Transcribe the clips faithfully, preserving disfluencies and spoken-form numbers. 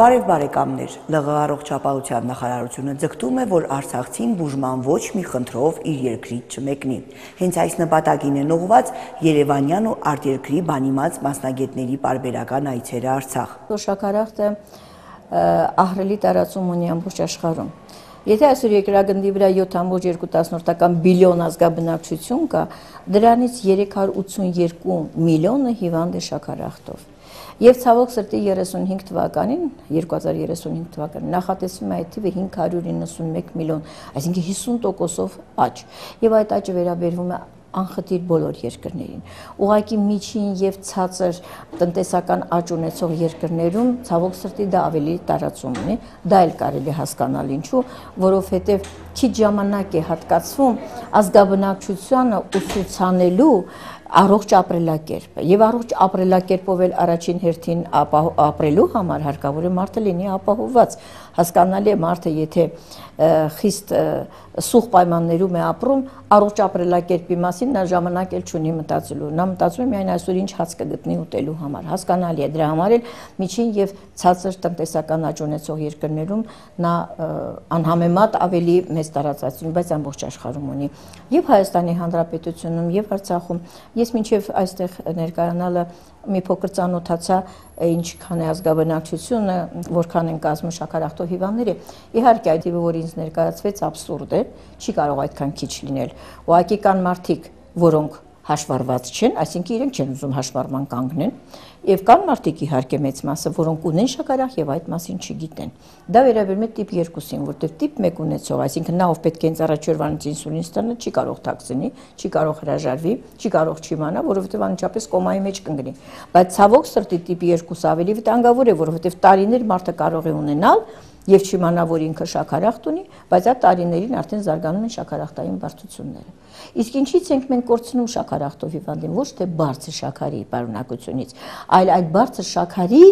Բարև բարեկամներ, Լ Ղ առողջապահության նախարարությունը ձգտում է, որ արցախցին բուժման ոչ մի խնդրով իր երկրից չմեկնի։ Հենց այս նպատակին են ուղղված երևանյան ու արտերկրի բանիմաց մասնագետների պարբերական այցերը Արցախ։ Շաքարախտը ահռելի տարածում ունի ամբողջ աշխարհում։ Եթե այսօր երկրագնդի վրա յոթ կόμma երկու բիլիոն ազգաբնակչություն կա, դրանից երեք հարյուր ութսունյոթ միլիոնը հիվանդ է շաքարախտով։ Եվ ցավոք սրտի երեսունհինգ թվականին, երկու հազար երեսունհինգ թվականին նախատեսվում է այդ թիվը հինգ հարյուր իննսունմեկ միլիոն, այսինքն հիսուն տոկոսով աճ։ Եվ այդ աճը վերաբերվում է անխտիր բոլոր երկրներին։ Ուղղակի միջին եւ ցածր տնտեսական աճ ունեցող երկրներում ցավոք սրտի դա ավելի տարածում ունի, դա էլ կարելի հասկանալ ինչու, որովհետեւ քիչ ժամանակ է հատկացվում ազգաբնակչությանը ուսուցանելու առողջ ապրելակերպը եւ առողջ ապրելակերպով էլ առաջին հերթին ապրելու համար հարկավոր է մարդը լինի ապահովված։ Հասկանալի է մարդը եթե խիստ սուղ պայմաններում է ապրում, առողջ ապրելակերպի մասին նա ժամանակ էլ չունի մտածելու։ Նա մտածում է միայն այսօր ինչ հաց կգտնի ուտելու համար։ Հասկանալի է, դրա համար էլ միջին եւ ցածր տնտեսական աճ ունեցող երկրներում նա անհամեմատ ավելի մեծ տարածություն, բայց ամբողջ աշխարհում ունի։ Եվ Հայաստանի Հանրապետությունում եւ Արցախում ես մինչեւ այստեղ ներկայանալը մի փոքր ծանոթացա ինչքան է ազգաբնակչությունը, որքան են կազմում շաքարախտով հիվանդները։ Իհարկե այդ թիվը, որ ինձ ներկայացվեց, աբսուրդ է, չի կարող այդքան քիչ լինել։ Ուղղակի կան մարդիկ, որոնք հաշվառված չեն, այսինքն իրենք չեն ուզում հաշվառման կանգնեն, եւ կան մարդիկ իհարկե մեծ մասը, որոնք ունեն շաքարախ եւ այդ մասին չգիտեն։ Դա վերաբերում է տիպ երկուսին, որտեղ տիպ մեկ ունեցող, այսինքն նա ով պետք է հենց առաջորդանից ինսուլին ստանա, չի կարող թաքցնի, չի կարող հրաժարվի, չի կարող չիմանա, որովհետեւ անմիջապես կոմայի մեջ կընկնի։ Բայց ցավոք սրտի տիպ երկուսը ավելի վտանգավոր է, որովհետեւ տարիներ մարդը կարող է ունենալ եւ չիմանա, որ ինքը շաքարախտ ունի, բայց այդ տարիներին արդեն զարգանում են շաքարախտային բարդությունները։ Իսկ ինչից ենք մենք կորցնում շաքարախտով հիվանդին, ոչ թե բարձր շաքարի պարունակությունից, այլ այդ բարձր շաքարի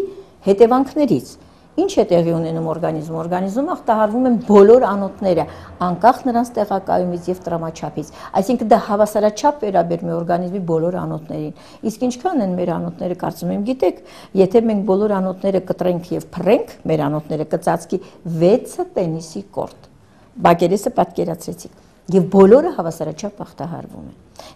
հետևանքներից։ Ինչ է տեղի ունենում օրգանիզմում, օրգանիզմում ախտահարվում են բոլոր անոթները, անկախ նրանց տեղակայումից եւ տրամաչափից, այսինքն դա հավասարաչափ վերաբերում է օրգանիզմի բոլոր անոթներին։ Իսկ ինչքան են մեր անոթները, կարծում եմ գիտեք, եթե մենք բոլոր անոթները կտրենք եւ փռենք, մեր անոթները կծածկի վեցը տենիսի կորտ։ Բակերեսը պատկերացրեցիք։ Եվ բոլորը հավասարաչափ ախտահարվում են։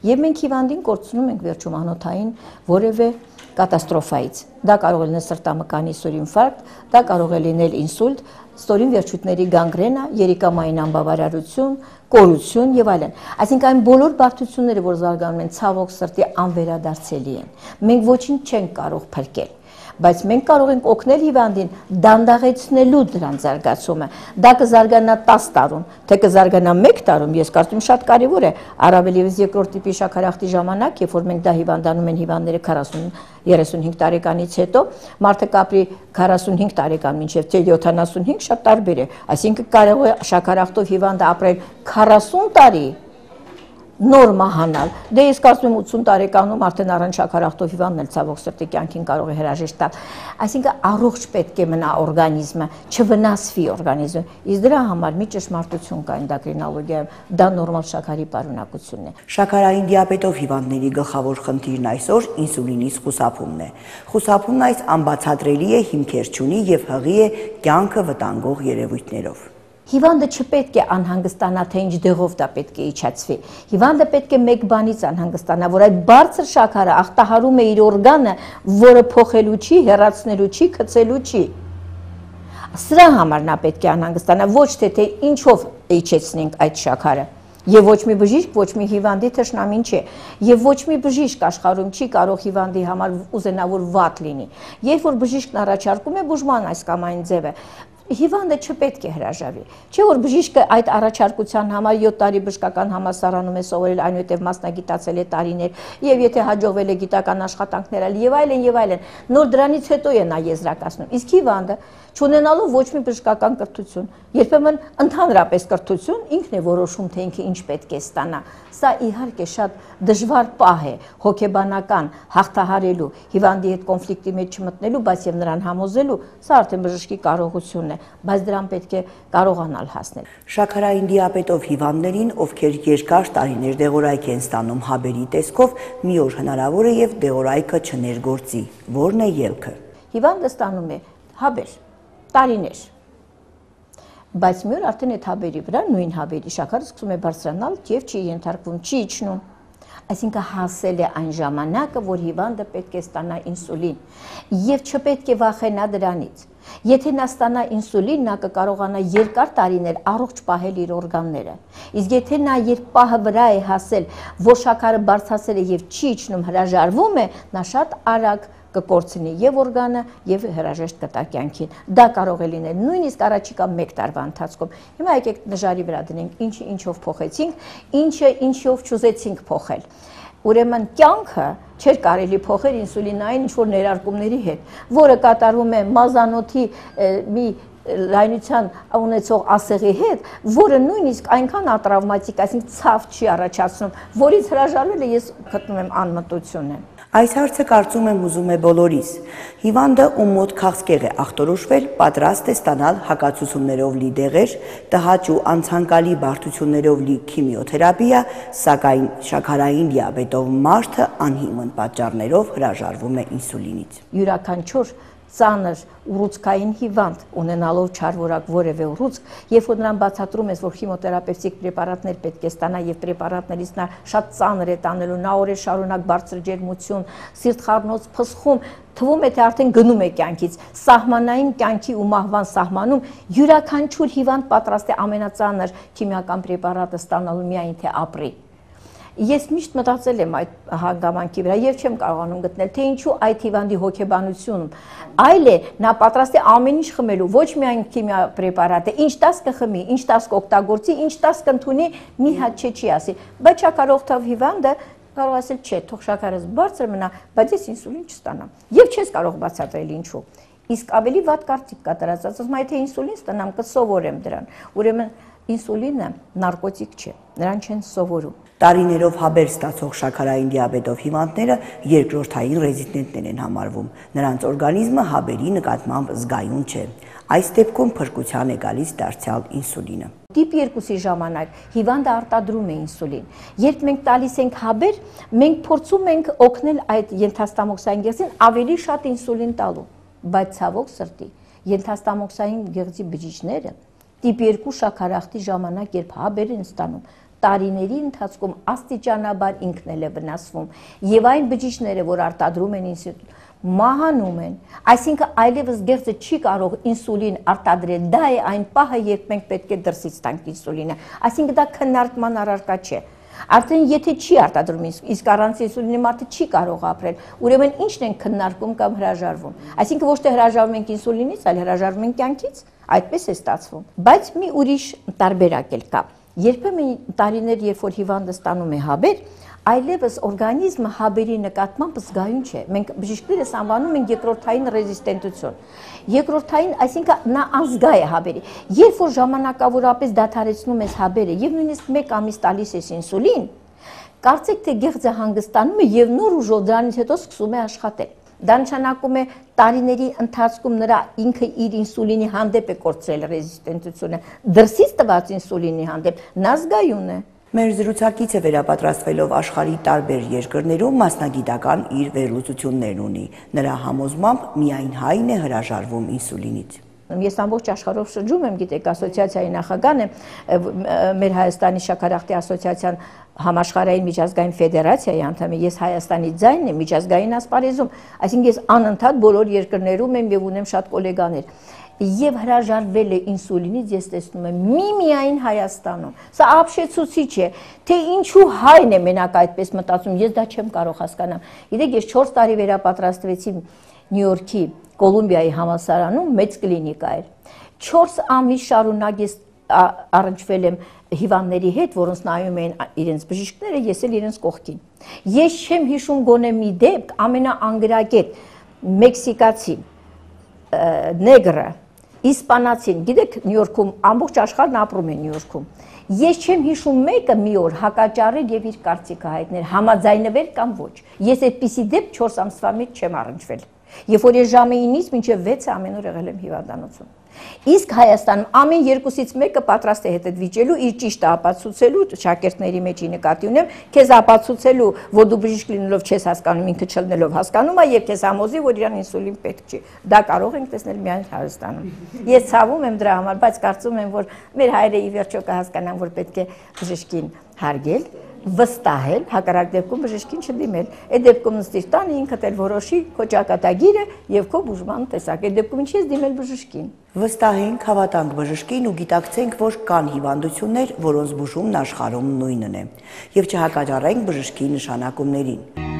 Եվ մենք հիվանդին կորցնում ենք վերջում անոթային որևէ կատաստրոֆայից։ Դա կարող է լինել սրտամկանի սուրինֆարկտ, դա կարող է լինել ինսուլտ, ստորին վերջույթների գանգրենա, երիկամային անբավարարություն, կորություն եւ այլն։ Այսինքն այն բոլոր բարդությունները, որ զարգանում են, ցավոք սրտի անվերադարձելի են։ Մենք ոչինչ չենք կարող փրկել։ Բայց մենք կարող ենք օգնել հիվանդին դանդաղեցնելու դրան զարգացումը։ Դա կզարգանա տասը տարում, թե կզարգանա մեկ տարում, ես կարծում եմ շատ կարևոր է, առավել եւս երկրորդ տիպի շաքարախտի ժամանակ, երբ որ մենք դա հիվանդանում են հիվանդները քառասուն երեսունհինգ տարեկանից հետո, մարդը կապրի քառասունհինգ տարեկան մինչեւ թե յոթանասունհինգ շատ տարբեր է, այսինքն կարող է շաքարախտով հիվանդը ապրել քառասուն տարի նոր մահանալ։ Դե ես կարծում եմ ութսուն տարեկանում արդեն առանց շաքարախտով հիվանդն էլ ցավոք սրտի կյանքին կարող է հրաժեշտ տալ։ Այսինքն առողջ պետք է մնա օրգանիզմը, չվնասվի օրգանիզմը։ Իսկ դրա համար մի ճշմարտություն կա էնդոկրինոլոգիայում, դա նորմալ շաքարի պարունակությունն է։ Շաքարային դիաբետով հիվանդների գլխավոր խնդիրն այսօր ինսուլինից խուսափումն է։ Խուսափումն այս անբացատրելի է, հիմքեր չունի եւ հղի է կյանքը վտանգող երևույթներով։ Հիվանդը չպետք է անհանգստանա, թե ինչ դեղով դա պետք է իջացվի։ Հիվանդը պետք է մեկ բանից անհանգստանա, որ այդ բարձր շաքարը ախտահարում է իր օրգանը, որը փոխելու չի, հեռացնելու չի, գցելու չի։ Սրա համար նա պետք է անհանգստանա, ոչ թե թե ինչով իջեցնենք այդ շաքարը։ Եվ ոչ մի բժիշկ, ոչ մի հիվանդի թշնամին չէ, եւ ոչ մի բժիշկ աշխարհում չի կարող հիվանդի համար ուզենա որ վատ լինի։ Երբ որ բժիշկն առաջարկում է բուժման այս կամ այն ձևը, հիվանդը չպետք է հրաժարվի։ Չէ՞ որ բժիշկը այդ առաջարկության համար յոթ տարի բժշկական համալսարանում է սովորել, այնուհետև մասնագիտացել է տարիներ, եւ եթե հաջողվել է գիտական աշխատանքներ ալ եւ այլն եւ այլն, նոր դրանից հետո է նա եզրակացնում։ Իսկ հիվանդը չունենալով ոչ մի բժշկական կրթություն, երբեմն ընդհանրապես կրթություն, ինքն է որոշում, թե ինքը ինչ պետք է ստանա։ Սա իհարկե շատ դժվար պահ է, հոգեբանական, հաղթահարելու, հիվանդի հետ կոնֆլիկտի մեջ չմտնելու, բայց եւ նրան համոզելու, սա արդեն բժշկի կարողությունն է, բայց դրան պետք է կարողանալ հասնել։ Շաքարային դիաբետով հիվանդներին, ովքեր երկար տարիներ դեղորայք են ստանում հաբերի տեսքով, մի օր հնարավոր է եւ դեղորայքը չներգործի։ Որն է ելքը։ Հիվանդը ստանում է հաբեր, տարիներ։ Բայց մի օր արդեն այդ հաբերի վրա, նույն հաբերի շաքարը սկսում է բարձրանալ եւ չի ենթարկվում, չի իջնում։ Այսինքն հասել է այն ժամանակը, որ հիվանդը պետք է ստանա ինսուլին եւ չպետք է վախենա դրանից։ Եթե նա ստանա ինսուլին, նա կկարողանա երկար տարիներ առողջ պահել իր օրգանները։ Իսկ եթե նա երբ պահը վրա է հասել, որ շաքարը բարձրացել է եւ չի իջնում, հրաժարվում է, նա շատ արագ կկորցնի եւ օրգանը եւ հրաժեշտ կտա կյանքին։ Դա կարող է լինել նույնիսկ առաջիկա մեկ տարվա ընթացքում։ Հիմա եկեք նժարի վրա դնենք, ինչը ինչով փոխեցինք, ինչը ինչով չուզեցինք փոխել։ Ուրեմն կյանքը չէր կարելի փոխել ինսուլինային ինչ-որ ներարկումների հետ, որը կատարվում է մազանոթի մի լայնության ունեցող ասեղի հետ, որը նույնիսկ այնքան ատրավմատիկ, այսինքն ցավ չի առաջացնում, որից հրաժարվելը ես գտնում եմ անմտություն է։ Այս հարցը կարծում եմ ուզում է բոլորիս։ Հիվանդը, ում մոտ քաղցկեղ է ախտորոշվել, պատրաստ է ստանալ հակացություններով լի դեղեր, տհաճ ու անցանկալի բարդություններով լի քիմիոթերապիա, սակայն շաքարային դիաբետով մարդը անհիմն պատճառներով հրաժարվում է ինսուլինից։ Յուրաքանչյուր ծանր ուռուցքային հիվանդ ունենալով չարվորակ որևէ ուռուցք, երբ որ նրան բացատրում ես, որ քիմիոթերապևտիկ պրեպարատներ պետք է ստանա եւ պրեպարատներից նա շատ ծանր է տանելու, նա օրեր շարունակ բարձր ջերմություն, սիրտխառնոց փսխում, թվում է թե արդեն գնում է կյանքից, սահմանային կյանքի ու մահվան սահմանում յուրաքանչյուր հիվանդ պատրաստ է ամենածանր քիմիական պրեպարատը ստանալու միայն թե ապրի։ Ես միշտ մտածել եմ այդ հանգամանքի վրա եւ չեմ կարողանում գտնել, թե ինչու այդ հիվանդի հոգեբանությունում այլ է, նա պատրաստ է ամեն ինչ խմելու, ոչ միայն քիմիա պրեպարատը, ինչ տաս կխմի, ինչ տաս կօգտագործի, ինչ տաս կընդունի, մի հատ չէ չի ասի, բայց չակարող թավ հիվանդը կարող ասել չէ, թող շաքարս բարձր մնա, բայց ես ինսուլին չստանամ։ Եվ չես կարող բացատրել ինչու։ Իսկ ավելի վատ կարծիք կա դրած, ասում եթե ինսուլին ստանամ, կսովորեմ դրան։ Ուրեմն ինսուլինը նարկոտիկ չէ, նրան չեն սովորում։ Տարիներով հաբեր ստացող շաքարային դիաբետով հիվանդները երկրորդային ռեզիստենտներ են համարվում։ Նրանց օրգանիզմը հաբերի նկատմամբ զգայուն չէ։ Այս դեպքում փրկության է գալիս դարձյալ ինսուլինը։ Տիպ երկուսի ժամանակ հիվանդը արտադրում է ինսուլին։ Երբ մենք տալիս ենք հաբեր, մենք փորձում ենք օգնել այդ ենթաստամոքսային գեղձին ավելի շատ ինսուլին տալու, բայց ցավոք սրտի ենթաստամոքսային գեղձի բջիջները տիպ երկու շաքարախտի ժամանակ, երբ հաբեր են ստանում, տարիների ընթացքում աստիճանաբար ինքն էլ է վնասվում եւ այն բջիջները, որ արտադրում են ինսուլին, մահանում են, այսինքն այլևս գեղձը չի կարող ինսուլին արտադրել, դա է այն պահը, երբ մենք պետք է դրսից տանք ինսուլինը, այսինքն դա քննարկման առարկա չէ։ Արդեն եթե չի արտադրում, իսկ առանց ինսուլինի մարդը չի կարող ապրել, ուրեմն ի՞նչն են քննարկում կամ հրաժարվում։ Այսինքն ոչ թե հրաժարվում ենք ինսուլինից, այլ հրաժարվում ենք կյանքից, այդպես է ստացվում։ Բայց մի ուրիշ տարբերակ էլ կա։ Երբեմն տարիներ, երբ որ հիվանդը ստանում է հաբեր, այլևս օրգանիզմը հաբերի նկատմամբ զգայուն չէ։ Մենք բժիշկներս անվանում ենք երկրորդային ռեզիստենտություն։ Երկրորդային, այսինքն նա անզգա է հաբերի։ Երբ որ ժամանակավորապես դադարեցնում ես հաբերը եւ նույնիսկ մեկ ամիս տալիս ես ինսուլին, կարծեք թե գեղձը հանգստանում է եւ նոր ուժով դրանից հետո սկսում է աշխատել։ Դա նշանակում է տարիների ընթացքում նրա ինքը իր ինսուլինի հանդեպ է կորցրել ռեզիստենտությունը, դրսից տված ինսուլինի հանդեպ նա զգայուն է։ Մեր զրուցակիցը վերապատրաստվելով աշխարհի տարբեր երկրներում մասնագիտական իր վերլուծություններն ունի։ Նրա համոզմամբ միայն հայն է հրաժարվում ինսուլինից։ Ես ամբողջ աշխարհով շրջում եմ, գիտեք, ասոցիացիայի նախագահն եմ, մեր Հայաստանի շաքարախտի ասոցիացիան համաշխարհային միջազգային ֆեդերացիայի անդամ եմ, ես Հայաստանի ձայնն եմ միջազգային ասպարեզում, այսինքն ես անընդհատ բոլոր երկրներում եմ եւ ունեմ շատ գոլեգաներ։ Եվ հրաժարվել է ինսուլինից, ես տեսնում եմ միմիայն Հայաստանում։ Սա ապշեցուցիչ է, թե ինչու հայն է մենակ այդպես մտածում, ես դա չեմ կարող հասկանալ։ Գիտեք, ես չորս տարի վերապատրաստվեցի Նյու Յորքի Կոլումբիայի համալսարանում, մեծ կլինիկա էր։ չորս ամիս շարունակ ես առնչվել եմ հիվանդների հետ, որոնց նայում էին իրենց բժիշկները, ես էլ իրենց կողքին։ Ես չեմ հիշում գոնե մի դեպք, ամենաանգրագետ մեքսիկացի, նեգրը, իսպանացին, գիտեք, Նյու Յորքում ամբողջ աշխարհն ապրում է Նյու Յորքում։ Ես չեմ հիշում մեկը մի օր հակաճառել եւ իր կարծիքը հայտնել, համաձայնվել կամ ոչ։ Ես այդպիսի դեպք չորս ամսվա մեջ չեմ առնչվել։ Երբ որ ես ժամը ինից մինչև վեցը ամեն օր եղել եմ հիվանդանոցում։ Իսկ Հայաստանում ամեն երկուսից մեկը պատրաստ է հետ վիճելու իր ճիշտը ապացուցելու շակերտների մեջի նկատի ունեմ, քեզ ապացուցելու, որ դու բժիշկ լինելով չես հասկանում, ինքը չլնելով հասկանում է եւ քեզ համոզի, որ իրան ինսուլին պետք չի։ Դա կարող ենք տեսնել միայն Հայաստանում։ Ես ցավում եմ դրա համար, բայց կարծում եմ, որ մեր հայրերը ի վերջո կհասկանան, որ պետք է բժշկին հարգել, վստահել, հակառակ դեպքում բժշկին չդիմել։ Այդ դեպքում նստիր տանը ինքդ էլ որոշի քո ճակատագիրը եւ քո բուժման տեսակ։ Այդ դեպքում ինչի՞ ես դիմել բժշկին։ Վստահենք, հավատանք բժշկին ու գիտակցենք, որ կան հիվանդություններ, որոնց բուժումն աշխարհում նույնն է, եւ չհակաճառենք բժշկի նշանակումներին։